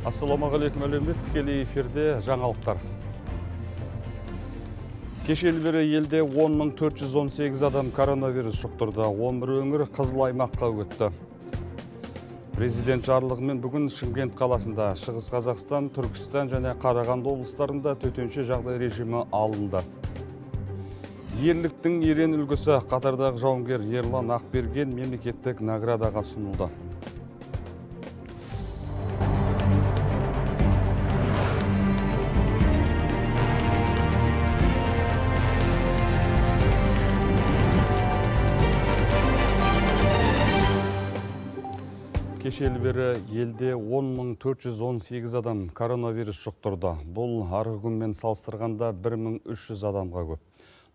Ассалаумағалейкум әлемет, тікелей эфирде жаңалықтар. Кешелі бері елде 10.418 адам коронавирус жұқтырды. 11 өңір қызыл аймаққа өтті. Президент жарлығымен бүгін Шымкент қаласында, Шығыс Қазақстан, Түркістан және Қарағанды облыстарында төтенше жағдай режимі алынды. Ерліктің ерен үлгісі қатардағы жауынгер Ерлан Ақберген мемлекеттік наградаға ұсынылды. Кешелі бері елде 10.418 адам коронавирус жұқтырды. Бұл арғы күнмен салыстырғанда 1300 адамға көп.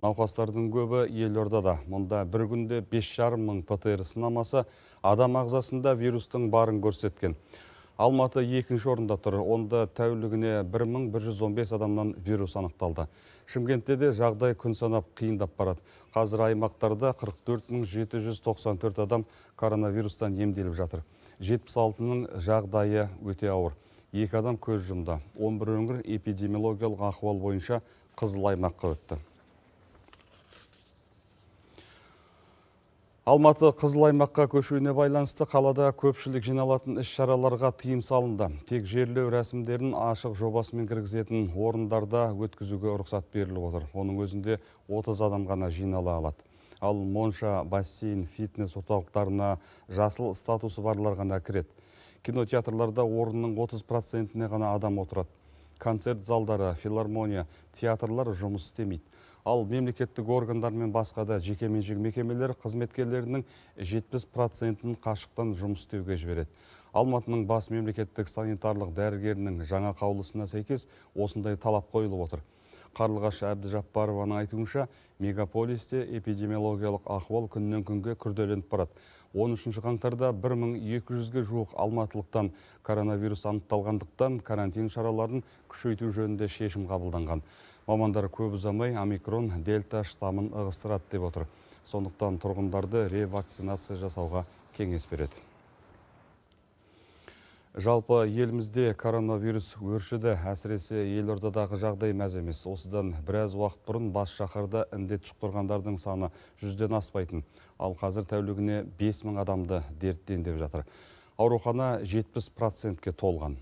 Науқастардың көбі елордада. Мұнда бір күнде 5,5 мың ПТР сынамасы адам ағзасында вирустың барын көрсеткен. Алматы екінші орында тұр. Онда тәулігіне 1115 адамнан вирус анықталды. Шымкентте де жағдай күн санап қиындап барады. Қазір аймақтарда 44.794 адам коронавирустан емделіп жатыр. 76-ның жағдайы өте ауыр. 2 адам көз жұмды. 11 өңір эпидемиологиялық ахуал бойынша қызыл аймаққа өтті. Алматы қызыл аймаққа көшуіне байланысты қалада көпшілік жиналатын іс-шараларға тыйым салынды. Тек жерлеу рәсімдерін ашық жобасымен кіргізетін орындарда өткізуге рұқсат беріліп отыр. Оның өзінде 30 адам ғана жинала алады. Ал монша, бассейн, фитнес орталықтарына жасыл статусы барлар ғана кіреді. Кинотеатрларда орынның 30%-не ғана адам отырады. Концерт залдары, филармония, театрлар жұмыс істемейді. Ал мемлекеттік органдар мен басқа да жекеменшік мекемелер қызметкерлерінің 70%-ін қашықтан жұмыс істеуге жібереді. Алматының бас мемлекеттік санитарлық дәрігерінің жаңа қаулысына сәйкес осындай талап қойылып отыр. Қарлығаш Әбдіжаппарованың айтуынша, мегаполисте эпидемиологиялық ахуал күннен күнге күрделеніп барады. 13 қаңтарда 1200-ге жуық алматылықтан коронавирус анықталғандықтан карантин шараларын күшейту жөнінде шешім қабылданған. Мамандар көп ұзамай омикрон дельта штамын ығыстырады деп отыр. Сондықтан тұрғындарды ревакцинация жасауға кеңес береді. Жалпы елімізде коронавирус өршіді, әсіресе елордадағы жағдай мәз емес. Осыдан біраз уақыт бұрын бас шаһарда індет жұқтырғандардың саны 100-ден аспайтын. Ал қазір тәулігіне 5000 адамды дерттен деп жатыр. Аурухана 70%-ке толған.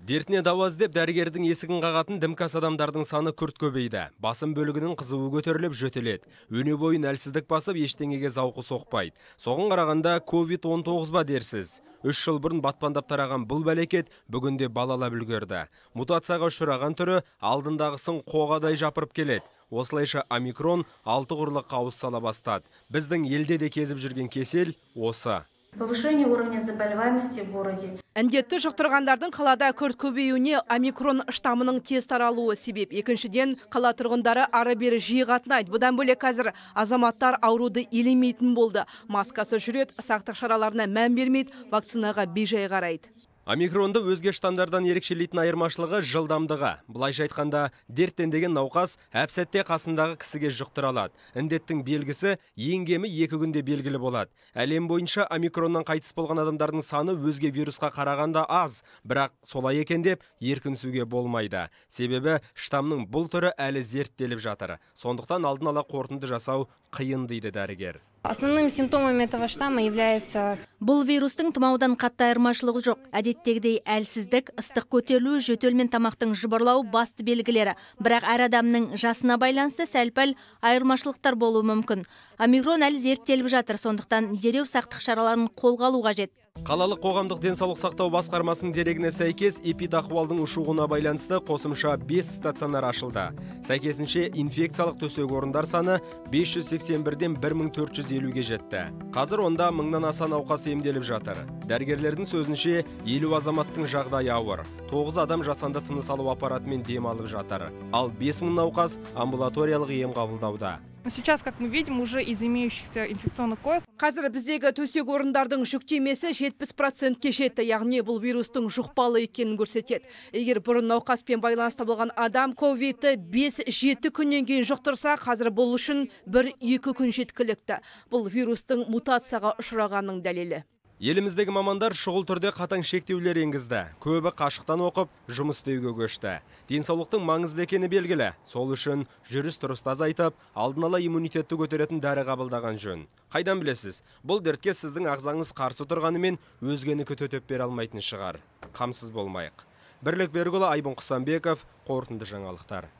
Дертіне дауа іздеп дәрігердің есігін қағатын дімкас адамдардың саны күрт көбейді. Басым бөлігінің қызуы көтеріліп жөтеледі. Өне бойын әлсіздік басып, ештеңеге зауқы соқпайды. Соған қарағанда COVID-19 ба дерсіз. 3 жыл бұрын батпандап тараған бұл бәлекет бүгінде балалап үлгерді. Мутацияға ұшыраған түрі алдындағысын қоғадай жапырып келеді. Осылайша омикрон 6 құрлыққа ауыз сала бастады. Біздің елде де кезіп жүрген кесел осы. Повышение уровня заболеваемости в городе. Індетті жұқтырғандардың қалада күрт көбеюіне омикрон штамының тез таралуы себеп. Екіншіден, қала тұрғындары ары-бері жиі қатынайды. Бұдан бөлек қазір азаматтар ауруды елемейтін болды. Маскасы жүреді, сақтық шараларына мән бермейді, вакцинаға бейжай қарайды. Омикронды өзге штамдардан ерекшелейтін айырмашылығы жылдамдығы. Былайша айтқанда, дерттенген науқас әп-сәтте қасындағы кісіге жұқтыра алады. Індеттің белгісі ең кемі 2 күнде белгілі болады. Әлем бойынша омикроннан қайтыс болған адамдардың саны өзге вирусқа қарағанда аз, бірақ солай екен деп еркінсуге болмайды. Себебі штамның бұл түрі әлі зерттеліп жатыр. Сондықтан алдын ала қорытынды жасау қиын дейді дәрігер. Основными симптомами этого штамма является... Бұл вирустың тұмаудан қатты айырмашылығы жоқ. Әдеттегідей әлсіздік, ыстық көтерілу, жөтел мен тамақтың жыбырлау басты белгілері. Бірақ әр адамның жасына байланысты сәл-пәл айырмашылықтар болуы мүмкін. Омикрон әлі зерттеліп жатыр, сондықтан дереу сақтық шараларын қолға алу қажет. Қалалық қоғамдық денсаулық сақтау басқармасының дерегіне сәйкес эпидахуалдың ушығуына байланысты қосымша 5 стационар ашылды. Сәйкесінше инфекциялық төсек орындар саны 581-ден 1450-ге жетті. Қазір онда 1000-нан аса науқас емделіп жатыр. Дәрігерлердің сөзінше 50 азаматтың жағдайы ауыр. 9 адам жасанды тыныс алу аппаратымен дем алып жатыр. Ал 5000 науқас амбулаториялық ем қабылдауда. Сейчас, как мы видим, уже из имеющихся инфекционных коек. Қазір біздегі төсек орындардың жүктемесі 70%-ке жетті, яғни бұл вирустың жұқпалы екенін көрсетеді. Егер бұрын науқаспен байланысты болған адам ковидті 5-7 күннен кейін жұқтырса, қазір бұл үшін 1-2 күн жеткілікті. Бұл вирустың мутацияға ұшырағанның дәлелі. Еліміздегі мамандар шұғыл түрде қатаң шектеулер енгізді. Көбі қашықтан оқып, жұмыс істеуге көшті. Денсаулықтың маңызды екені белгілі. Сол үшін жүріс-тұрысты азайтып, алдын ала иммунитетті көтеретін дәрі қабылдаған жөн. Қайдан білесіз? Бұл дертке сіздің ағзаңыз қарсы тұрғанымен өзгенікі төтеп бере алмайтын шығар. Қамсыз болмайық. Бірлік Берікұлы, Айбын Құсанбеков, қорытынды жаңалықтар.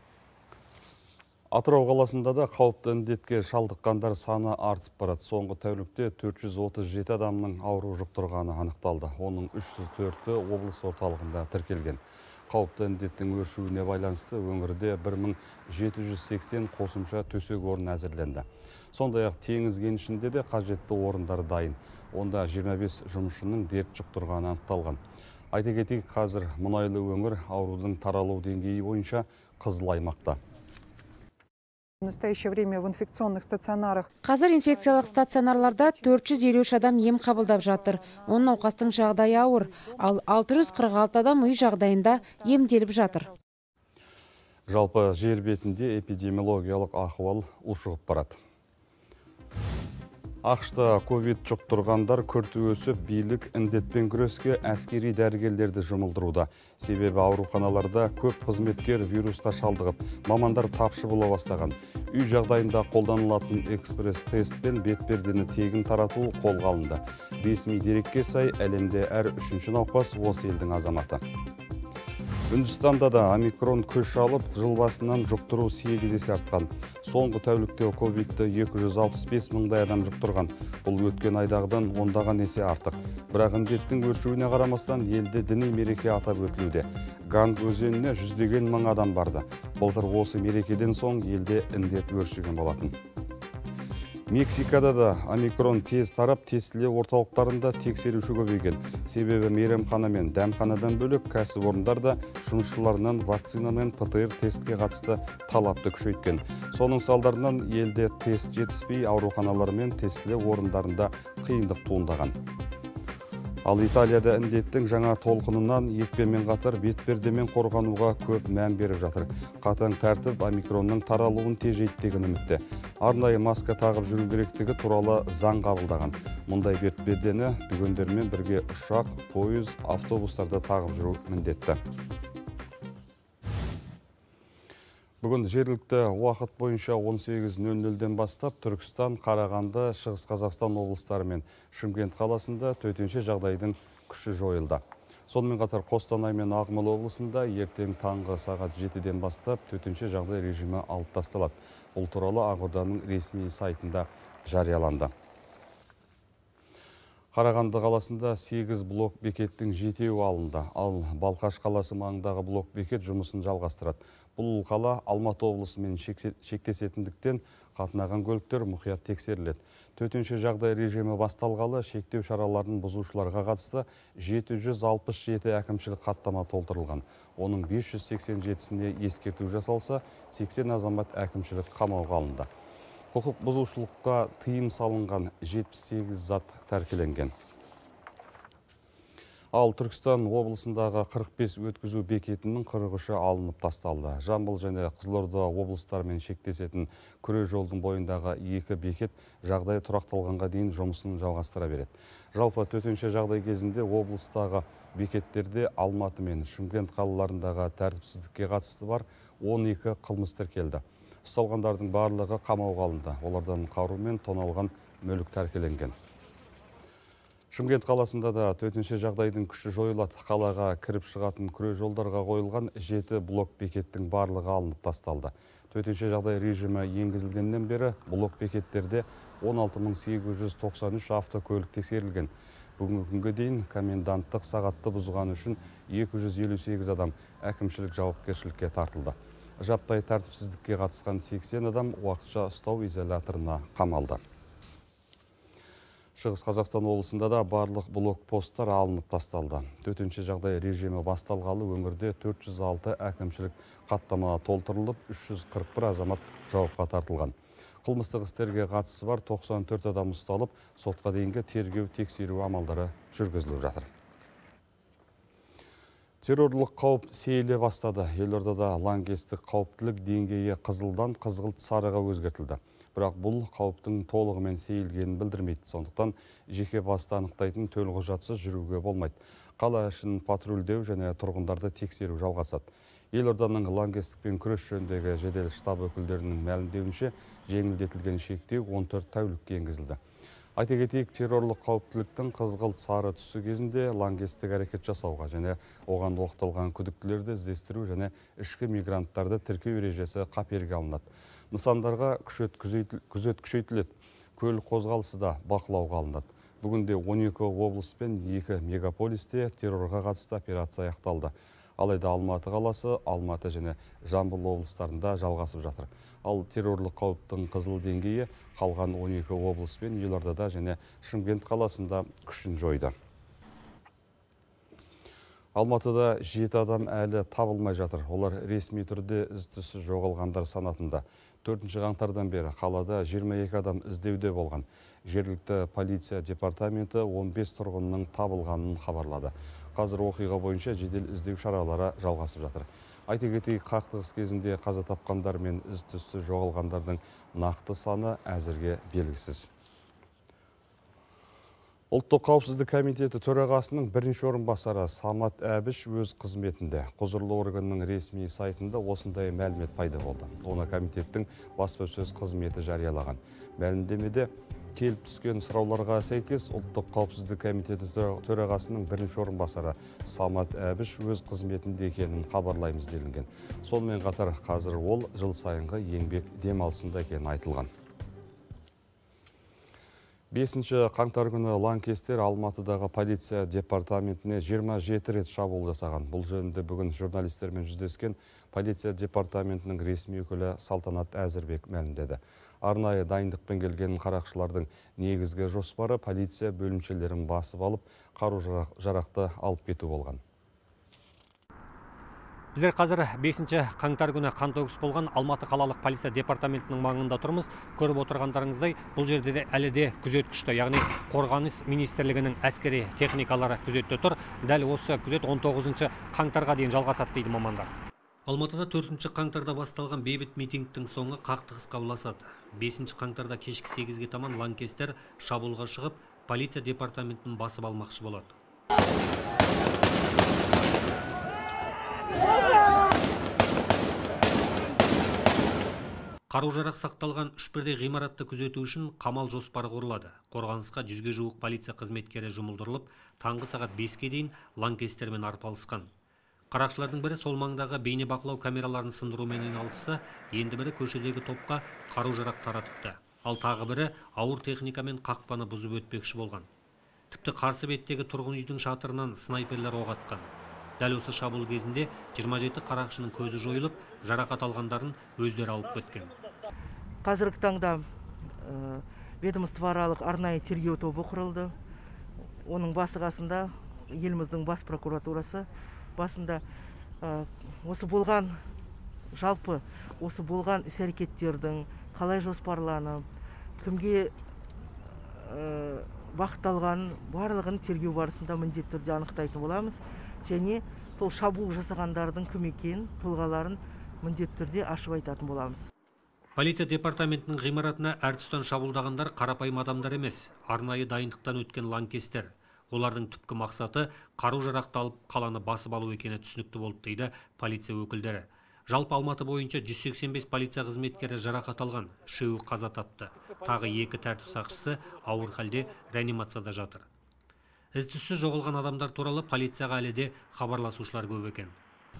Атырау қаласында да қауіпті індетке шалдыққандар саны артып барады. Соңғы тәулікте 437 адамның ауру жұқтырғаны анықталды. Оның 304-і облыс орталығында тіркелген. Қауіпті індеттің өршуіне байланысты өңірде 1780 қосымша төсек орын әзірленді. Сондай-ақ теңіз кенішінде де қажетті орындар дайын. Онда 25 жұмысшының дерт жұқтырғаны анықталған. Айта кетейік, қазір мұнайлы өңір аурудың таралу деңгейі бойынша қызыл аймақта. В настоящее время в инфекционных стационарах. Қазір инфекциялық стационарларда 453 адам ем қабылдап жатыр. Оның науқастың жағдайы ауыр, ал 646 адам үй жағдайында емделіп жатыр. Жалпы жер бетінде эпидемиологиялық ахуал ушығып барады. Ақшта ковид жұқтырғандар күрт өсіп, билік індетпен күреске әскери дәрігерлерді жұмылдыруда. Себебі ауруханаларда көп қызметкер вирусқа шалдығып, мамандар тапшы бола бастаған. Үй жағдайында қолданылатын экспресс-тест пен бетпердені тегін тарату қолға алынды. Ресми дерекке сай, әлемде әр 3-ші науқас осы елдің азаматы. Үндістанда да омикрон күш алып, жыл басынан жұқтыру 8 есе артқан. Соңғы тәулікте ковидті 265 мыңдай адам жұқтырған. Бұл өткен айдағыдан ондаған есе артық. Бірақ індеттің өршуіне қарамастан елде діни мереке атап өтілуде. Ганг өзеніне 100-деген мың адам барды. Былтыр осы мерекеден соң елде індет өршіген болатын. Мексикада да омикрон тез тарап, тестілеу орталықтарында тексеруші көбейген. Себебі мейрамхана мен дәмханадан бөлек кәсіпорындар да жұмысшыларынан вакцина мен ПТР тестке қатысты талапты күшейткен. Соның салдарынан елде тест жетіспей, ауруханалар мен тестілеу орындарында қиындық туындаған. Ал Италияда індеттің жаңа толқынынан екпемен қатар бетпердемен қорғануға көп мән беріп жатыр. Қатаң тәртіп омикронның таралуын тежейді деген үмітте. Арнайы маска тағып жүру керектігі туралы заң қабылдаған. Мұндай бетпердені дүкендермен бірге ұшақ, пойыз, автобустарда тағып жүру міндетті. Бүгін жергілікті уақыт бойынша 18:00-ден бастап Түркістан, Қарағанды, Шығыс Қазақстан облыстары мен Шымкент қаласында төтенше жағдайдың күші жойылды. Сонымен қатар Қостанай мен Ақмола облысында ертең таңғы сағат 7-ден бастап төтенше жағдай режимі алып тасталады. Бұл туралы Ақорданың ресми сайтында жарияланды. Қарағанды қаласында 8 блок бекеттің 7-еуі алынды, ал Балқаш қаласы маңындағы блок бекет жұмысын жалғастырады. Бұл қала Алматы облысымен шектесетіндіктен қатынаған көліктер мұқият тексеріледі. Төтенше жағдай режимі басталғалы шектеу шараларын бұзушыларға қатысты 767 әкімшілік хаттама толтырылған. Оның 587-сіне ескерту жасалса, 80 азамат әкімшілік қамауға алынды. Құқық бұзушылыққа тыйым салынған 78 зат тәркіленген. Ал Түркістан облысындағы 45 өткізу бекетінің 43-і алынып тасталды. Жамбыл және Қызылорда облыстарымен шектесетін күре жолдың бойындағы 2 бекет жағдай тұрақталғанға дейін жұмысын жалғастыра береді. Жалпы төтенше жағдай кезінде облыстағы бекеттерде Алматы мен Шымкент қалаларындағы тәртіпсіздікке қатысты бар 12 қылмыс тіркелді. Ұсталғандардың барлығы қамауға алынды. Олардан қару мен тоналған мүлік тәркіленген. Шымкент қаласында да төтенше жағдайдың күші жойылады. Қалаға кіріп шығатын күре жолдарға қойылған 7 блок бекеттің барлығы алынып тасталды. Төтенше жағдай режимі енгізілгеннен бері блок бекеттерде 16893 автокөлік тексерілген. Бүгінгі күнге дейін коменданттық сағатты бұзған үшін 258 адам әкімшілік жауапкершілікке тартылды. Жаппай тәртіпсіздікке қатысқан 80 адам уақытша ұстау изоляторына қамалды. Шығыс Қазақстан облысында да барлық блокпосттар алынып тасталды. Төтенше жағдай режимі басталғалы өңірде 406 әкімшілік хаттама толтырылып, 341 азамат жауапқа тартылған. Қылмыстық істерге қатысы бар 94 адам ұсталып, сотқа дейінгі тергеу тексеру амалдары жүргізіліп жатыр. Террорлық қауіп сейіле бастады. Елордада лаңкестік қауіптілік деңгейі қызылдан қызғылт сарыға өзгертілді. Бірақ бұл қауіптің толығымен сейілгенін білдірмейді. Сондықтан жеке басты анықтайтын төлқұжатсыз жүруге болмайды. Қала ішін патрульдеу және тұрғындарды тексеру жалғасады. Елорданың лаңкестікпен күрес жөніндегі жедел штаб өкілдерінің мәлімдеуінше жеңілдетілген шектеу 14 тәулікке енгізілді. Айта кетейік, террорлық қауіптіліктің қызғылт сары түсі кезінде лаңкестік әрекет жасауға және оған оқталған күдіктілерді іздестіру және ішкі мигранттарды тіркеу ережесі қаперге алынады. Нысандарға күзет күшейтіледі. Көлік қозғалысы да бақылауға алынады. Бүгінде 12 облыс пен 2 мегаполисте террорға қатысты операция аяқталды. Алайда Алматы қаласы, Алматы және Жамбыл облыстарында жалғасып жатыр. Ал террорлық қауіптің қызыл деңгейі қалған 12 облыс пен Елордада және Шымкент қаласында күшін жойды. Алматыда 7 адам әлі табылмай жатыр. Олар ресми түрде із-түзсіз жоғалғандар санатында. 4 қаңтардан бері қалада 22 адам іздеуде болған. Жергілікті полиция департаменті 15 тұрғынның табылғанын хабарлады. Қазір оқиға бойынша жедел іздеу шаралары жалғасып жатыр. Айта кетейік, қақтығыс кезінде қаза тапқандар мен із-түзсіз жоғалғандардың нақты саны әзірге белгісіз. Ұлттық қауіпсіздік комитеті төрағасының бірінші орынбасары Самат Әбіш өз қызметінде. Құзырлы органның ресми сайтында осындай мәлімет пайда болды. Оны комитеттің баспасөз қызметі жариялаған. Мәлімдемеде келіп түскен сұрауларға сәйкес ұлттық қауіпсіздік комитеті төрағасының бірінші орынбасары Самат Әбіш өз қызметінде екенін хабарлаймыз делінген. Сонымен қатар қазір ол жыл сайынғы еңбек демалысында екені айтылған. 5 қаңтар күні лаңкестер Алматыдағы полиция департаментіне 27 рет шабуыл жасаған. Бұл жөнінде бүгін журналистермен жүздескен полиция департаментінің ресми өкілі Салтанат Әзірбек мәлімдеді. Арнайы дайындықпен келген қарақшылардың негізгі жоспары полиция бөлімшелерін басып алып, қару-жарақты алып кету болған. Біздер қазір 5 қаңтар күні қантөгіс болған Алматы қалалық полиция департаментінің маңында тұрмыз. Көріп отырғандарыңыздай, бұл жерде де әлі де күзет күшті, яғни қорғаныс министрлігінің әскери техникалары күзетте тұр. Дәл осы күзет 19 қаңтарға дейін жалғасады дейді мамандар. Алматыда 4 қаңтарда басталған бейбіт митингтің соңы қақтығысқа ұласады. 5 қаңтарда кешкі 8-ге таман лаңкестер шабуылға шығып, полиция департаментін басып алмақшы болады. Қару-жарақ сақталған 3 бірдей ғимаратты күзету үшін қамал жоспары құрылады. Қорғанысқа 100-ге жуық полиция қызметкері жұмылдырылып, таңғы сағат 5-ге дейін лаңкестермен арпалысқан. Қарақшылардың бірі сол маңдағы бейне бақылау камераларын сындырумен айналысса, енді бірі көшедегі топқа қару-жарақ таратыпты. Ал тағы бірі ауыр техникамен қақпаны бұзып өтпекші болған. Тіпті қарсы беттегі тұрғын үйдің шатырынан снайперлер оқ атқан. Дәл осы шабуыл кезінде 27 қарақшының көзі жойылып, жарақат алғандарын өздері алып кеткен. Қазіргі таңда ведомствоаралық арнайы тергеу тобы құрылды. Оның басы қасында еліміздің бас прокуратурасы басында осы болған жалпы осы болған іс-әрекеттердің қалай жоспарланып, кімге бағытталған барлығын тергеу барысында міндетті түрде анықтайтын боламыз. Және сол шабуыл жасағандардың кім екенін, тұлғаларын міндетті түрде ашып айтатын боламыз. Полиция департаментінің ғимаратына әр тұстан шабуылдағандар қарапайым адамдар емес, арнайы дайындықтан өткен лаңкестер. Олардың түпкі мақсаты қару-жарақты алып қаланы басып алу екені түсінікті болып дейді полиция өкілдері. Жалпы Алматы бойынша 185 полиция қызметкері жарақат алған, 3-і қаза тапты. Тағы 2 тәртіп сақшысы ауыр халде реанимацияда жатыр. Із-түзсіз жоғалған адамдар туралы полицияға әлі де хабарласушылар көп екен.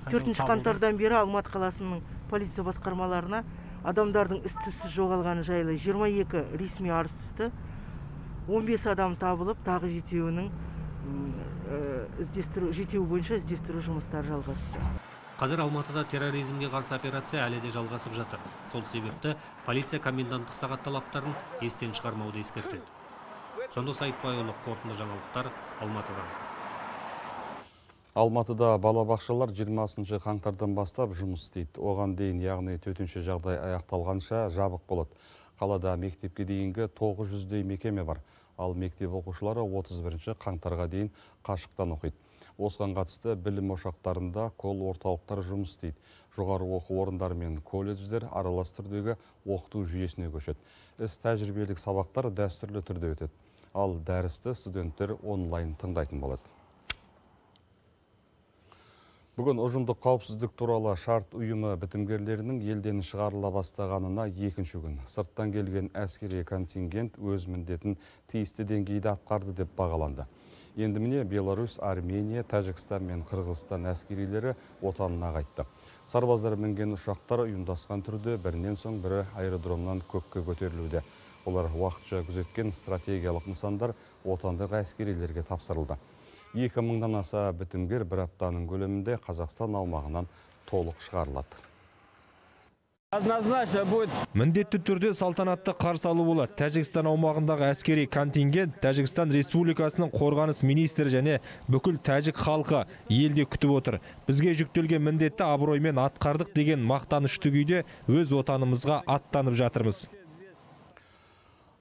4 қаңтардан бері Алматы қаласының полиция басқармаларына адамдардың із-түзсіз жоғалғаны жайлы 22 ресми арыз түсті. 15 адам табылып, тағы жетеуінің жетеуі бойынша іздестіру жұмыстары жалғасты. Қазір Алматыда терроризмге қарсы операция әлі де жалғасып жатыр. Сол себепті полиция коменданттық сағат талаптарын естен шығармауды ескертеді. Жандос Айтбайұлы, қорытынды жаңалықтар, Алматыдан. Алматыда балабақшалар 20 қаңтардан бастап жұмыс істейді. Оған дейін, яғни төтенше жағдай аяқталғанша жабық болады. Қалада мектепке дейінгі 900-дей мекеме бар. Ал мектеп оқушылары 31 қаңтарға дейін қашықтан оқиды. Осыған қатысты білім ошақтарында кол орталықтар жұмыс істейді. Жоғары оқу орындары мен колледждер аралас түрдегі оқыту жүйесіне көшеді. Іс тәжірибелік сабақтар дәстүрлі түрде өтеді. Ал дәрісті студенттер онлайн тыңдайтын болады. Бүгін ұжымдық қауіпсіздік туралы шарт ұйымы бітімгерлерінің елден шығарыла бастағанына екінші күн. Сырттан келген әскери контингент өз міндетін тиісті деңгейде атқарды деп бағаланды. Енді міне Беларусь, Армения, Тәжікстан мен Қырғызстан әскерилері отанына қайтты. Сарбаздар мінген ұшақтар ұйымдасқан түрде бірінен соң бірі аэродромнан көкке көтерілуде. Олар уақытша күзеткен стратегиялық нысандар отандық әскерилерге тапсырылды. 2000-нан аса бітімгер бір аптаның көлемінде Қазақстан аумағынан толық шығарылады. Міндетті түрде салтанатты қарсы алу болады. Тәжікстан аумағындағы әскери контингент Тәжікстан Республикасының қорғаныс министрі және бүкіл тәжік халқы елде күтіп отыр. Бізге жүктелген міндетті абыроймен атқардық деген мақтанышты күйде өз отанымызға аттанып жатырмыз.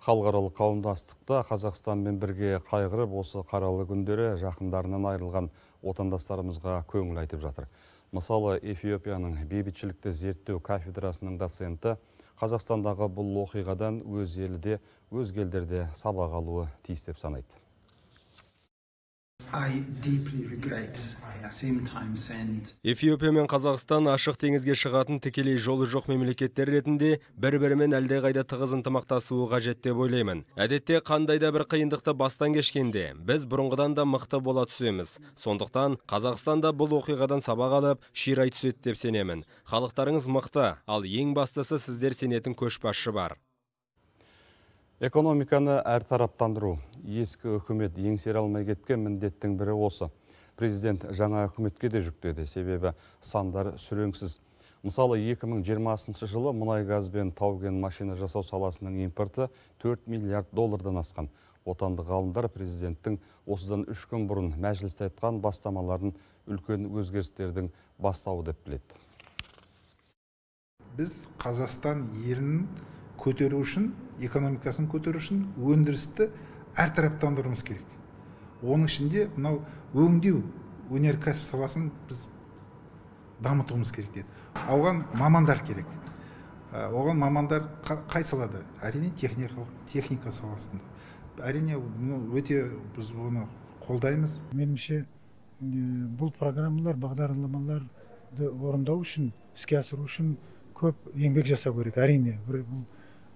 Халықаралық қауымдастықта Қазақстанмен бірге қайғырып, осы қаралы күндері жақындарынан айырылған отандастарымызға көңіл айтып жатыр. Мысалы, Эфиопияның бейбітшілікті зерттеу кафедрасының доценті Қазақстандағы бұл оқиғадан өз елде, өзге елдерде сабақ алуы тиіс деп санайды. Эфиопия мен Қазақстан ашық теңізге шығатын тікелей жолы жоқ мемлекеттер ретінде бір-бірімен әлдеқайда тығыз ынтымақтасуы қажет деп ойлаймын. Әдетте қандай да бір қиындықты бастан кешкенде біз бұрынғыдан да мықты бола түсеміз. Сондықтан Қазақстанда бұл оқиғадан сабақ алып, ширай түседі деп сенемін. Халықтарыңыз мықты, ал ең бастысы сіздер сенетін көшбасшы бар. Экономиканы әртараптандыру. Ескі үкімет еңсере алмай кеткен міндеттің бірі осы. Президент жаңа үкіметке де жүктеді, себебі сандар сүреңсіз. Мысалы, 2020 жылы мұнай газ бен тау-кен машина жасау саласының импорты 4 миллиард доллардан асқан. Отандық ғалымдар президенттің осыдан 3 күн бұрын мәжілісте айтқан бастамаларын үлкен өзгерістердің бастауы деп біледі. Біз Қазақстан елінің көтеру үшін, экономикасын көтеру үшін өндірісті әртараптандыруымыз керек. Оның ішінде мынау өңдеу, өнеркәсіп саласын біз дамытуымыз керек деді. Оған мамандар керек. Оған мамандар қай салада? Әрине техника саласында. Әрине өте біз оны қолдаймыз. Меніңше бұл программалар, бағдарламаларды орындау үшін, іске асыру үшін көп еңбек жасау керек. Әрине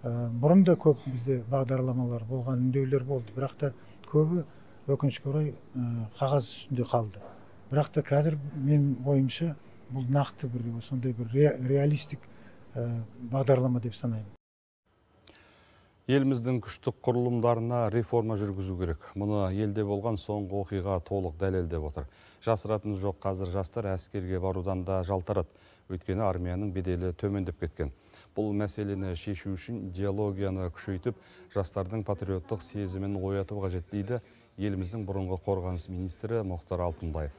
бұрын да көп бізде бағдарламалар болған, үндеулер болды. Бірақ та көбі өкінішке орай қағаз үстінде қалды. Бірақ та қазір мен ойымша бұл нақты сондай бір реалистік бағдарлама деп санаймын. Еліміздің күштік құрылымдарына реформа жүргізу керек. Мұны елде болған соңғы оқиға толық дәлелдеп отыр. Жасыратын жоқ, қазір жастар әскерге барудан да жалтарады. Өйткені армияның беделі төмендеп кеткен. Бұл мәселені шешу үшін идеологияны күшейтіп, жастардың патриоттық сезімін ояту қажет дейді еліміздің бұрынғы қорғаныс министрі Мұхтар Алтынбаев.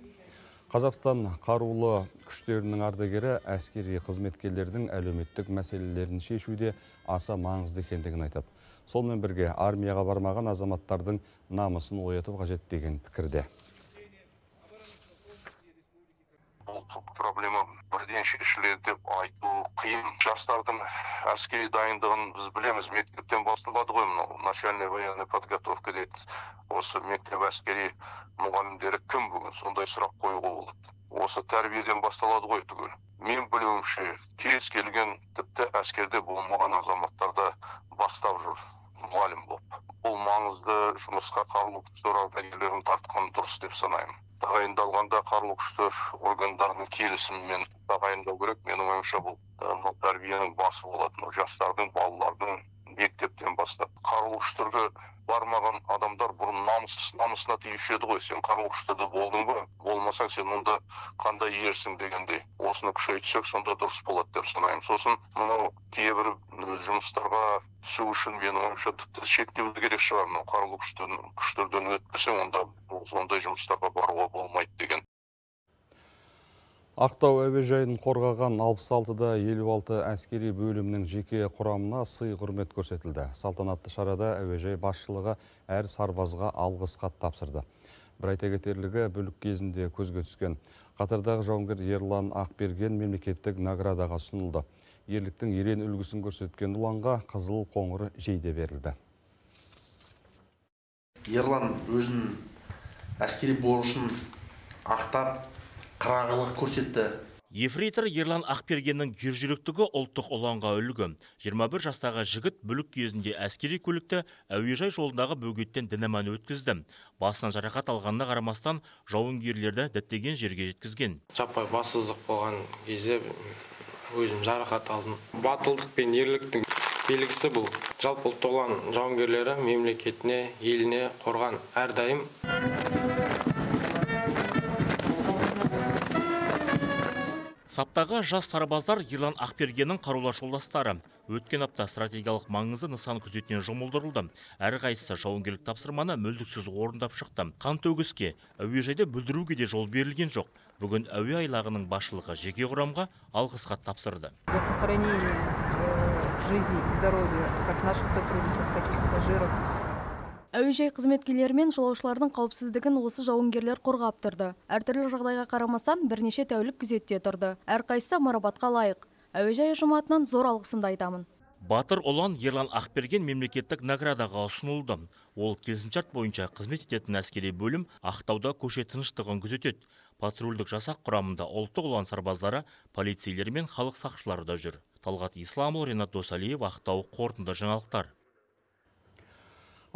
Қазақстан қарулы күштерінің ардагері әскери қызметкерлердің әлеуметтік мәселелерін шешуде аса маңызды екендігін айтады. Сонымен бірге армияға бармаған азаматтардың намысын ояту қажет деген пікірде. Проблема бірден шешіледі деп айту қиын. Жастардың әскери дайындығын біз білеміз, мектептен басталады ғой, начальная военная подготовка дейді. Осы мектеп әскери мұғалімдері кім бүгін? Сондай сұрақ қоюға болады. Осы тәрбиеден басталады ғой түгел. Мен білуімше, кез келген тіпті әскерде болмаған азаматтарда бастап жүр мұғалім болып. Бұл маңызды жұмысқа қарулы күштер ардагерлерін тартқан дұрыс деп санаймын. Тағайындалғанда қарулы күштер органдарының келісімімен тағайындау керек. Менің ойымша бұл тәрбиенің басы болады. Жастардың, балалардың мектептен бастап. Қарулы күштерге бармаған адамдар бұрын намысына тиюші еді ғой. Сен қарулы күштерде болдың ба? Болмасаң сен онда қандай ерсің дегендей. Осыны күшейтсек, сонда дұрыс болады деп санаймын. Сосын мынау кейбір жұмыстарға түсу үшін менің ойымша тіпті шектеуді керек шығар. Қарулы күштерден өтпесе, онда сондай жұмыстарға баруға болмайды деген. Ақтау әуежайын қорғаған 66-да 56 әскери бөлімнің жеке құрамына сый құрмет көрсетілді. Салтанатты шарада әуежай басшылығы әр сарбазға алғыс хат тапсырды. Бір айта кетерлігі бүлік кезінде көзге түскен қатардағы жауынгер Ерлан Ақберген мемлекеттік наградаға ұсынылды. Ерліктің ерен үлгісін көрсеткен ұланға қызыл қоңыр жейде берілді. Ерлан өзінің әскери борышын ақтап, қырағылық көрсетті. Ефрейтор Ерлан Ақбергеннің ержүректігі ұлттық ұланға үлгі. 21 жастағы жігіт бүлік кезінде әскери көлікті әуежай жолындағы бөгеттен дінаманы өткізді. Басынан жарақат алғанына қарамастан жауынгерлерді діттеген жерге жеткізген. Жаппай бассыздық болған кезде өзім жарақат алдым. Батылдық пен ерліктің белгісі бұл. Жалпы ұлттық ұлан жауынгерлері мемлекетіне, еліне қорған әрдайым. Саптағы жас сарбаздар Ерлан Ақбергеннің қарулас жолдастары. Өткен апта стратегиялық маңызы нысан күзетінен жұмылдырылды. Әрқайсысы жауынгерлік тапсырманы мүлтіксіз орындап шықты. Қан төгіске, әуежайда бүлдіруге де жол берілген жоқ. Бүгін әуе айлағының басшылығы жеке құрамға алғыс хат тапсырды. За сохранение жизни и здоровья как наших сотрудников, так и пассажиров. Әуежай қызметкерлері мен жолаушылардың қауіпсіздігін осы жауынгерлер қорғап тұрды. Әртүрлі жағдайға қарамастан бірнеше тәулік күзетте тұрды. Әрқайсысы марапатқа лайық. Әуежай ұжыматынан зор алғысымды айтамын. Батыр ұлан Ерлан Ақберген мемлекеттік наградаға ұсынылды. Ол келісімшарт бойынша қызмет ететін әскери бөлім Ақтауда көше тыныштығын күзетеді. Патрульдік жасақ құрамында ұлттық ұлан сарбаздары, полицейлер мен халық сақшылары да жүр. Талғат Исламұлы, Ренат Досалиев, Ақтау, қорытынды жаңалықтар.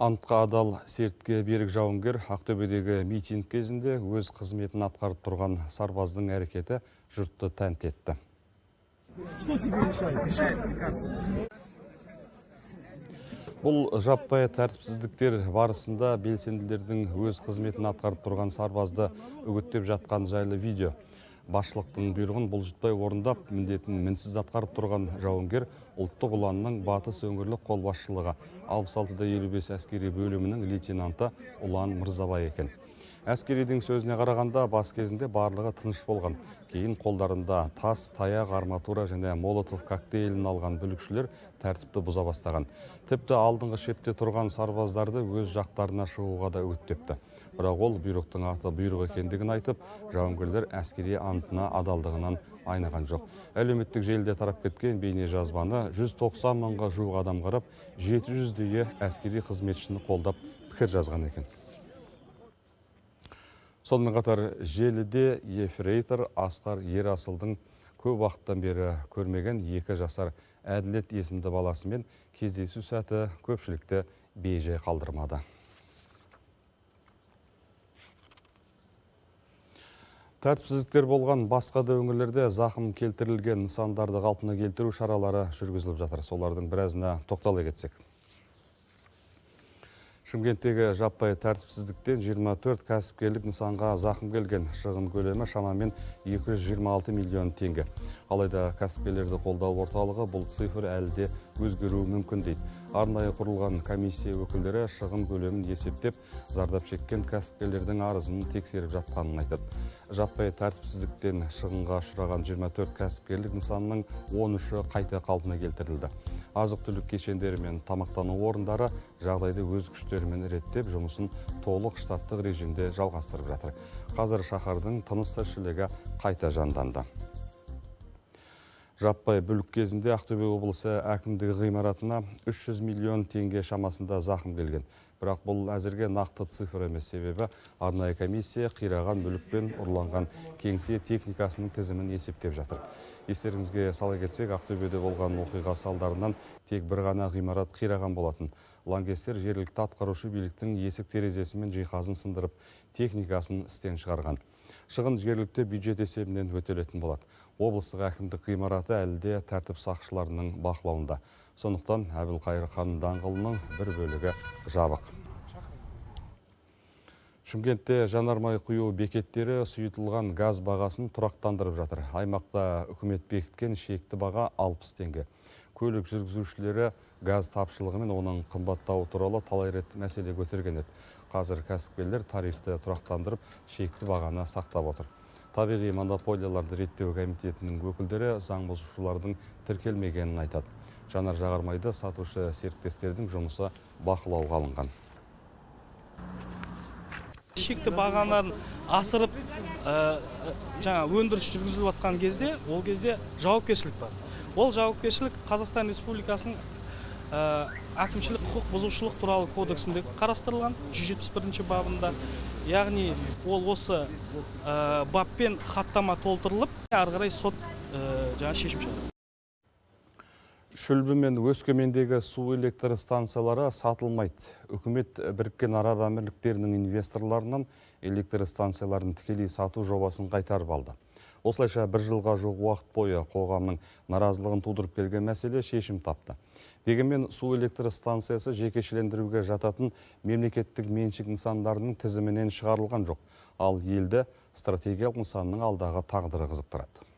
Антқа адал сертке берік жауынгер Ақтөбедегі митинг кезінде өз қызметін атқарып тұрған сарбаздың әрекеті жұртты тәнті етті. Бұл жаппай тәртіпсіздіктер барысында белсенділердің өз қызметін атқарып тұрған сарбазды үгіттеп жатқан жайлы видео. Басшылықтың бұйрығын бұлжытпай орындап, міндетін мінсіз атқарып тұрған жауынгер ұлттық ұланның батыс өңірлік қолбасшылығы 66-55 әскери бөлімінің лейтенанты Ұлан Мырзабай екен. Әскеридің сөзіне қарағанда бас кезінде барлығы тыныш болған. Кейін қолдарында тас, таяқ, арматура және молотов коктейлін алған бүлікшілер тәртіпті бұза бастаған. Тіпті алдыңғы шепте тұрған сарбаздарды өз жақтарына шығуға да үгіттепті. Бірақ ол бұйрықтың аты бұйрық екендігін айтып, жауынгерлер әскери антына адалдығынан айнаған жоқ. Әлеуметтік желіде тарап кеткен бейне жазбаны 190 мыңға жуық адам қарап, 700-дей әскери қызметшіні қолдап пікір жазған екен. Сонымен қатар желіде ефрейтор Асқар Ерасылдың көп уақыттан бері көрмеген 2 жасар Әділет есімді баласымен кездесу сәті көпшілікті бейжай қалдырмады. Тәртіпсіздіктер болған басқа да өңірлерде зақым келтірілген нысандарды қалпына келтіру шаралары жүргізіліп жатыр. Солардың біразына тоқтала кетсек. Шымкенттегі жаппай тәртіпсіздіктен 24 кәсіпкерлік нысанға зақым келген. Шығын көлемі шамамен 226 миллион теңге. Алайда кәсіпкерлерді қолдау орталығы бұл цифр әлі де өзгеруі мүмкін дейді. Арнайы құрылған комиссия өкілдері шығын көлемін есептеп, зардап шеккен кәсіпкерлердің арызын тексеріп жатқанын айтады. Жаппай тәртіпсіздіктен шығынға ұшыраған 24 кәсіпкерлік нысанның 13-і қайта қалпына келтірілді. Азық-түлік кешендері мен тамақтану орындары жағдайды өз күштерімен реттеп, жұмысын толық штаттық режимде жалғастырып жатыр. Қазір шаһардың тыныс-тіршілігі қайта жанданды. Жаппай бүлік кезінде Ақтөбе облысы әкімдігі ғимаратына 300 миллион теңге шамасында зақым келген. Бірақ бұл әзірге нақты цифр емес, себебі арнайы комиссия қираған бүлікпен ұрланған кеңсе техникасының тізімін есептеп жатыр. Естеріңізге сала кетсек, Ақтөбеде болған оқиға салдарынан тек бір ғана ғимарат қираған болатын. Лаңкестер жергілікті атқарушы биліктің есік терезесі мен жиһазын сындырып, техникасын істен шығарған. Шығын жергілікті бюджет есебінен өтелетін болады. Облыстық әкімдік ғимараты әлі де тәртіп сақшыларының бақылауында. Сондықтан Әбілқайыр хан даңғылының бір бөлігі жабық. Шымкентте жанармай құю бекеттері сұйытылған газ бағасын тұрақтандырып жатыр. Аймақта үкімет бекіткен шекті баға 60 теңге. Көлік жүргізушілері газ тапшылығы мен оның қымбаттауы туралы талай рет мәселе көтерген еді. Қазір кәсіпкерлер тарифті тұрақтандырып, шекті бағаны сақтап отыр. Табиғи монополияларды реттеу комитетінің өкілдері заң бұзушылардың тіркелмегенін айтады. Жанар жағармайды сатушы серіктестердің жұмысы бақылауға алынған. Шекті бағаларын асырып жаңа өндіріс жүргізіліп жатқан кезде, ол кезде жауапкершілік бар. Ол жауапкершілік Қазақстан Республикасының әкімшілік құқық бұзушылық туралы кодексінде қарастырылған 171 бабында. Яғни ол осы баппен хаттама толтырылып, ары қарай сот жаңа шешім шығарады. Шүлбі мен Өскемендегі су электр станциялары сатылмайды. Үкімет Біріккен Араб Әмірліктерінің инвесторларынан электр станцияларын тікелей сату жобасын қайтарып алды. Осылайша бір жылға жуық уақыт бойы қоғамның наразылығын тудырып келген мәселе шешім тапты. Дегенмен су электр станциясы жекешелендіруге жататын мемлекеттік меншік нысандарының тізімінен шығарылған жоқ. Ал елді стратегиялық нысанның алдағы тағдыры қызықтырады.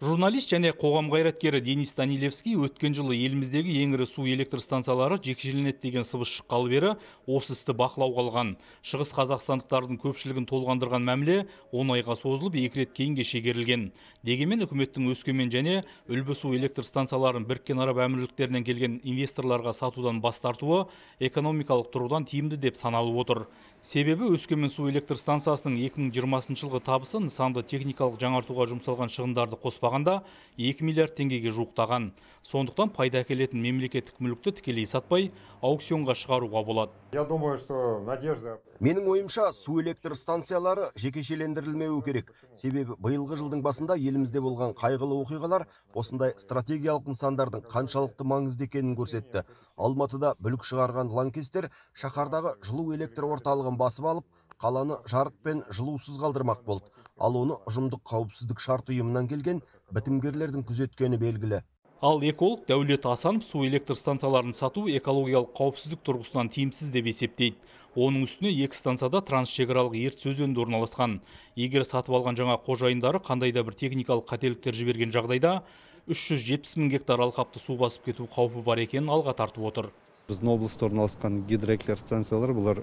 Журналист және қоғам қайраткері Денис Данилевский өткен жылы еліміздегі ең ірі су электр станциялары жекешеленеді деген сыбыс шыққалы бері осы істі бақылауға алған. Шығыс қазақстандықтардың көпшілігін толғандырған мәміле 10 айға созылып 2 рет кейінге шегерілген. Дегенмен үкіметтің Өскемен және Үлбі су электр станцияларын Біріккен Араб Әмірліктерінен келген инвесторларға сатудан бас тартуы экономикалық тұрғыдан тиімді деп саналып отыр. Себебі Өскемен су электр станциясының 2020 жылғы табысы нысанды техникалық жаңартуға жұмсалған шығындарды қоспағанда 2 миллиард теңгеге жуықтаған. Сондықтан пайда әкелетін мемлекеттік мүлікті тікелей сатпай аукционға шығаруға болады. Менің ойымша, су электр станциялары жекешелендірілмеуі керек. Себебі биылғы жылдың басында елімізде болған қайғылы оқиғалар осындай стратегиялық нысандардың қаншалықты маңызды екенін көрсетті. Алматыда бүлік шығарған лаңкестер шаһардағы жылу электр орталығын басып алып, қаланы жарық пен жылусыз қалдырмақ болды. Ал оны ұжымдық қауіпсіздік шарт ұйымынан келген бітімгерлердің күзеткені белгілі. Ал эколог Дәулет Асанов су электр станцияларын сату экологиялық қауіпсіздік тұрғысынан тиімсіз деп есептейді. Оның үстіне 2 станцияда трансшекаралық ертіс өзенінде орналасқан. Егер сатып алған жаңа қожайындары қандай да бір техникалық қателіктер жіберген жағдайда 370 мың гектар алқапты су басып кету қаупі бар екенін алға тартып отыр. Біздің облыста орналасқан гидроэлектр станциялар бұлар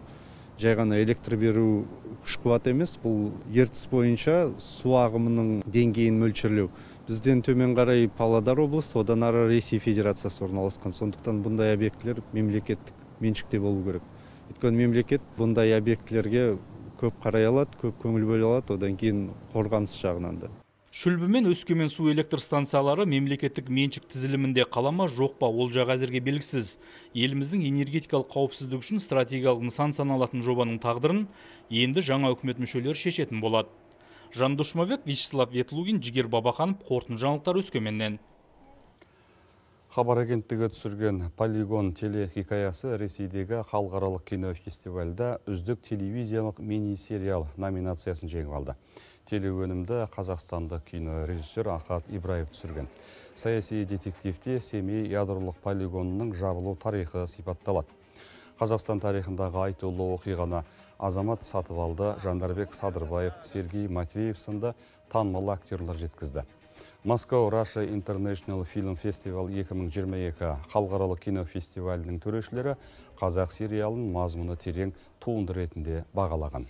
жай ғана электр беру күш қуат емес, бұл ертіс бойынша су ағымының деңгейін мөлшерлеу. Бізден төмен қарай Павлодар облысы, одан ары Ресей Федерациясы орналасқан. Сондықтан бұндай объектілер мемлекеттік меншікте болу керек. Өйткені мемлекет бұндай объектілерге көп қарай алады, көп көңіл бөле алады, одан кейін қорғаныс жағынан да. Шүлбі мен Өскемен су электр станциялары мемлекеттік меншік тізілімінде қала ма, жоқ па, ол жағы әзірге белгісіз. Еліміздің энергетикалық қауіпсіздік үшін стратегиялық нысан саналатын жобаның тағдырын енді жаңа үкімет мүшелері шешетін болады. Жандос Жұмабек, Вячеслав Ветлугин, Жігер Бабаханов, қорытынды жаңалықтар Өскеменнен. Хабар агенттігі түсірген «Полигон» телехикаясы Ресейдегі халықаралық кинофестивальда үздік телевизиялық мини-сериал номинациясын жеңіп алды. Телеөнімді қазақстандық кинорежиссер Ахат Ибраев түсірген. Саяси детективте Семей ядролық полигонының жабылу тарихы сипатталады. Қазақстан тарихындағы айтулы оқиғаны Азамат Сатыбалды, Жандарбек Садырбаев, Сергей Матвеев сынды танымал актерлар жеткізді. Moscow Russia International Film Festival 2022 халықаралық кинофестивалінің төрешілері қазақ сериалын мазмұны терең туынды ретінде бағалаған.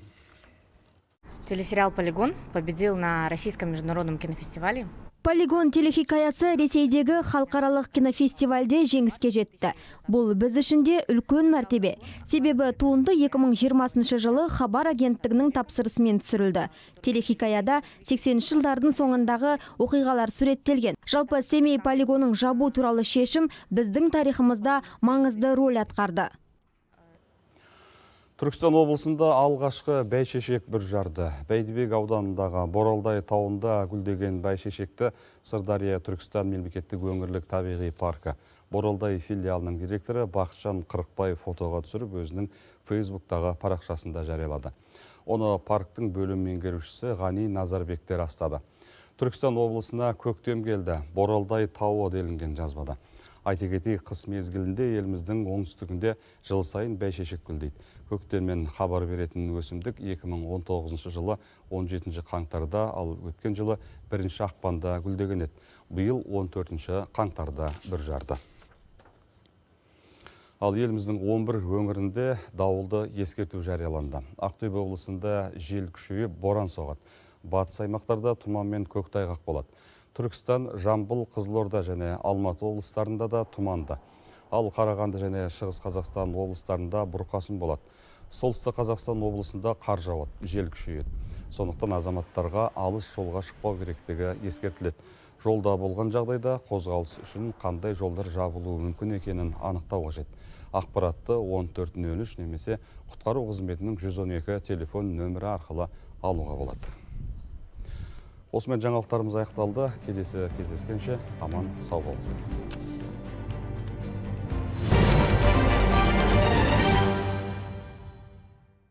Телесериал «Полигон» победил на Российском международном кинофестивале. Полигон телехикаясы Ресейдегі халықаралық кинофестивальде жеңіске жетті. Бұл біз үшін де үлкен мәртебе. Себебі туынды 2020 жылы хабар агенттігінің тапсырысымен түсірілді. Телехикаяда 80 жылдардың соңындағы оқиғалар суреттелген. Жалпы Семей полигонын жабу туралы шешім біздің тарихымызда маңызды рөл атқарды. Түркістан облысында алғашқы бәйшешек бүр жарды. Бәйдібек ауданындағы Боралдай тауында гүлдеген бәйшешекті Сырдария Түркістан мемлекеттік өңірлік табиғи паркі Боралдай филиалының директоры Бақытжан Қырықбаев фотоға түсіріп өзінің Фейсбуктағы парақшасында жариялады. Оны парктың бөлім меңгерушісі Ғани Назарбектер растады. Түркістан облысына көктем келді. Боралдай тауы делінген жазбада. Айта кетейік, қыс мезгілінде еліміздің оңтүстігінде жыл сайын бәйшешек гүлдейді. Көктеммен хабар беретін өсімдік 2019 жылы 17 қаңтарда, ал өткен жылы 1 ақпанда гүлдеген еді. Биыл 14 қаңтарда бүр жарды. Ал еліміздің 11 өңірінде дауылды ескерту жарияланды. Ақтөбе облысында жел күшейіп боран соғады. Батыс аймақтарда тұман мен көктайғақ болады. Түркістан, Жамбыл, Қызылорда және Алматы облыстарында да тұманды. Ал Қарағанды және Шығыс Қазақстан облыстарында бұрқасын болады. Солтүстік Қазақстан облысында қар жауады, жел күшейеді. Сондықтан азаматтарға алыс жолға шықпау керектігі ескертіледі. Жолда болған жағдайда қозғалыс үшін қандай жолдар жабылуы мүмкін екенін анықтау қажет. Ақпаратты 1403 немесе құтқару қызметінің 112 телефон нөмірі арқылы алуға болады. Осымен жаңалықтарымыз аяқталды. Келесі кездескенше аман сау болыңыздар.